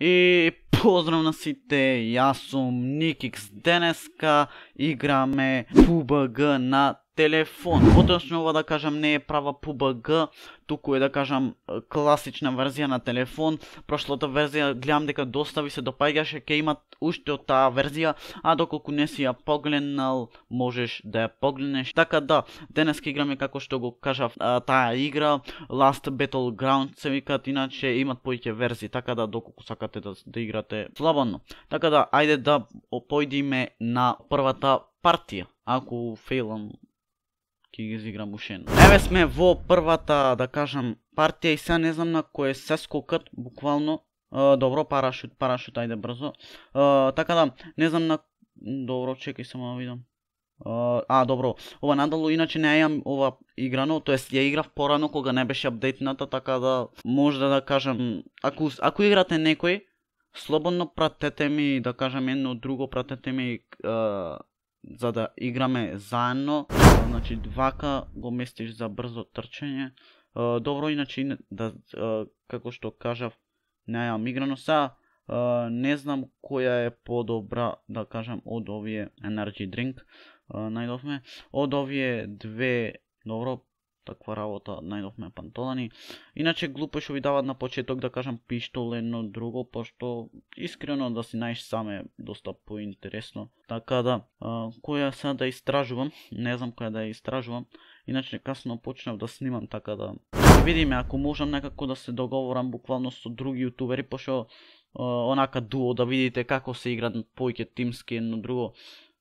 И поздрав на сите, јас сум Никикс. Денеска играме PUBG на телефон. Поточно ова да кажам не е права PUBG, туку е да кажам класична верзија на телефон. Прошлата верзија гледам дека доста ви се допаѓаше, ќе имат уште од таа верзија, а доколку не си ја погледнал, можеш да ја погледнеш. Така да, денеска играме како што го кажав таа игра, Last Battleground се викат, иначе имат повеќе верзии, така да доколку сакате да играте слободно. Така да, ајде да појдиме на првата партија. Ако фейлам, ќе ги изиграм ушено. Еве сме во првата, да кажам, партија и сега не знам на кој се скокат, буквално. Добро, парашут, ајде брзо. Така да, не знам на... Добро, чекај само да видам. Добро, ова надолу, иначе не ја ова играно, тоест ја играв порано кога не беше апдейтната, така да може да кажам, ако играте некој, слободно пратете ми, да кажам едно друго, пратете ми за да играме заедно. Значи двака го местиш за брзо трчање. Добро, иначе да, како што кажав, не јам играно. Сега не знам која е подобра, да кажам, од овие Energy Drink. Најдовме од овие две, добро, таква работа, најдовме пантолани. Иначе глупо што ви дават на почеток, да кажам, пиштол едно друго, пошто искрено да си најш сам е доста поинтересно. Така да, која сега да истражувам, не знам која да ја истражувам, иначе касно почнав да снимам, така да видиме ако можам некако да се договорам буквално со други јутубери, пошто онака дуо да видите како се играат повеќе тимски едно друго,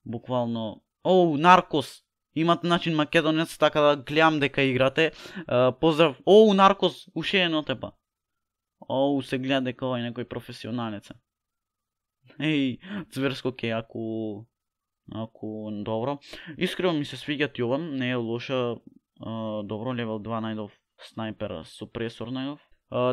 буквално. Наркос! Имат начин македонец, така да гледам дека играте. Поздрав. Наркос, уште едно тепа. Се гледа дека овај некој професионалец е. Зверско ке, ако добро. Искрено ми се свиѓа ти ова, не е лоша. Добро, левел 2 најдов снайпер, супресор најдов.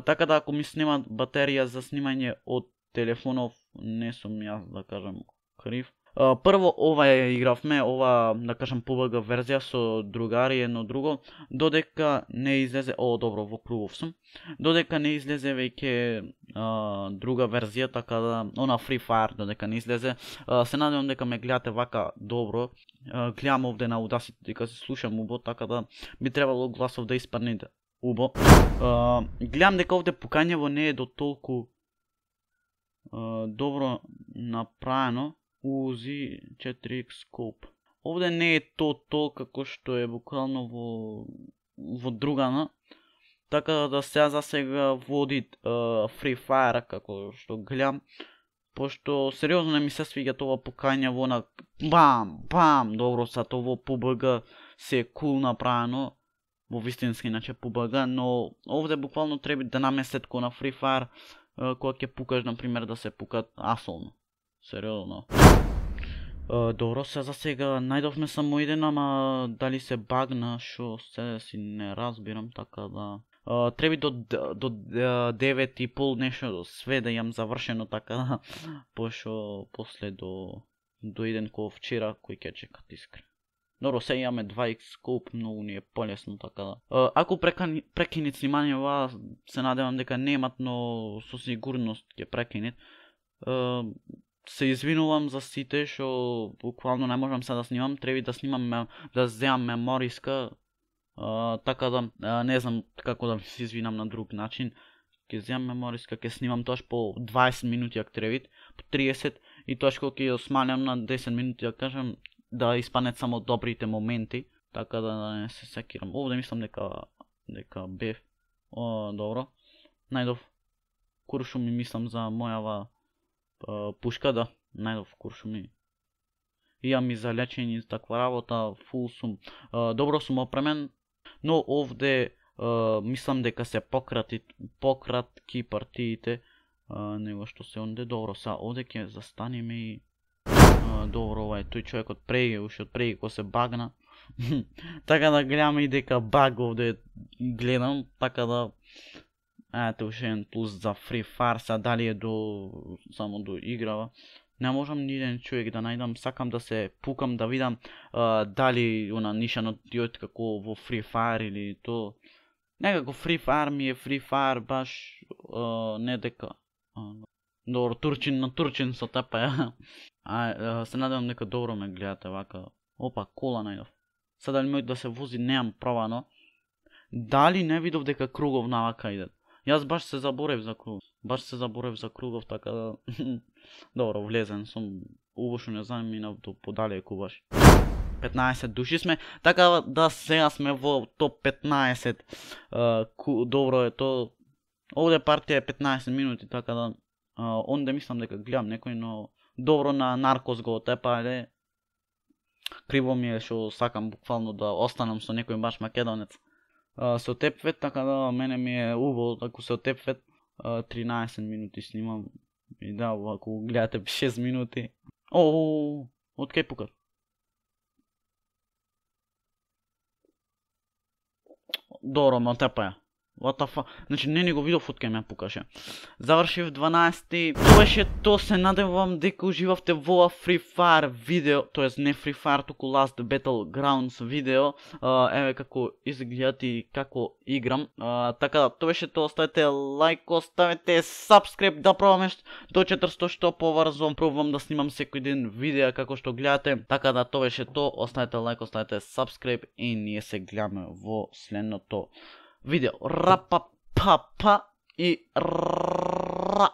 Така да ако ми снимат батерија за снимање од телефонов, не сум јас, да кажам, крив. Прво ова ја игравме, ова, да кажам, PUBG верзија со другари едно друго, додека не излезе, добро, во кругов сум, додека не излезе веќе друга верзија, така да, она Free Fire, додека не излезе, се надевам дека ме гледате вака добро, гледам овде на Audacity дека се слушам убо, така да би требало гласов да испадне убо. Гледам дека овде пукањево не е до толку добро направено. Узи 4x scope. Овде не е то како што е буквално во другана. Така да сега за сега води Free Fire како што гледам. Пошто сериозно не ми се свиѓа тоа покања во на бам, добро са тоа PUBG се е кул направено. Во вистински иначе PUBG, но овде буквално треба да наместет ко на Free Fire кога ќе пукаш, например, да се пукат асолно. Сериозно. Добро, за сега најдовме само еден, ама дали се багна, шо се си не разбирам, така да... Треби до 9:30 нешто све да јам завршено, така да... Пошо после до еден ко вчера, кој ќе чекат искрен. Добро, сега имаме 2x scope, многу ни е полесно, така да... Ако прекинет снимањева, се надевам дека немат, но со сигурност ќе прекинет. Се извинувам за сите што буквално не можам сега да снимам, треба да снимам, да земам мемориска, така да не знам како да се извинам на друг начин. Ќе земам мемориска, ќе снимам тоаш по 20 минути ако треба, по 30 и тоаш кога ќе ја смалям на 10 минути, да кажам, да испаднат само добрите моменти, така да не се секирам. Овде мислам дека бев. Добро. Најдов куршум и мислам за мојава пушка, да, најдов куршуми. Имам и за лечење, таква работа, фул сум. Добро сум опремен, но овде мислам дека се пократки партиите него што се онде. Добро, са овде ќе застанеме и добро, ова е тој човекот преги, уште од преги кој се багна. Така да гледаме и дека баг овде гледам, така да ете уште еден плюс за Free Fire, са дали е само до играва. Не можам ни еден човек да најдам, сакам да се пукам, да видам дали она нишано диот како во Free Fire или то. Некако Free Fire ми е Free Fire, баш не дека Добро, турчин на турчин со тепе. Се надевам дека добро ме гледате вака. Опа, кола најдов. Сега дали мој да се вози, неам правано. Дали не видов дека кругов навака идат? Јас баш се заборев за кругов, така да... Добро, влезен сум. Убошо не знам, минав до подалеку баш. 15 души сме, така да сега сме во топ 15. Добро е то. Овде партија е 15 минути, така да... Онде мислам дека гледам некој, но... Добро на Наркос го отепа, але... Криво ми е што сакам буквално да останам со некој баш македонец. Се отепвет, така да мене ми е убаво ако се отепвет. 13 минути снимам. И да, ако гледате 6 минути. Од кај пукат? Добро, ме отепа ја. What the fuck? Значи не го видов од кај ме пукаше. Завршив 12-ти. Тоа беше то, се надевам дека уживавте во Free Fire видео, тоест не Free Fire, туку Last Battlegrounds видео. Еве како изгледат и како играм. Така да, тоа беше то, оставете лайк, оставете subscribe, да пробаме до 400 што поврзо. Пробувам да снимам секој ден видеа како што гледате. Така да, тоа беше то, оставете лайк, оставете subscribe и ние се гледаме во следното видео. Рапа па па и ра.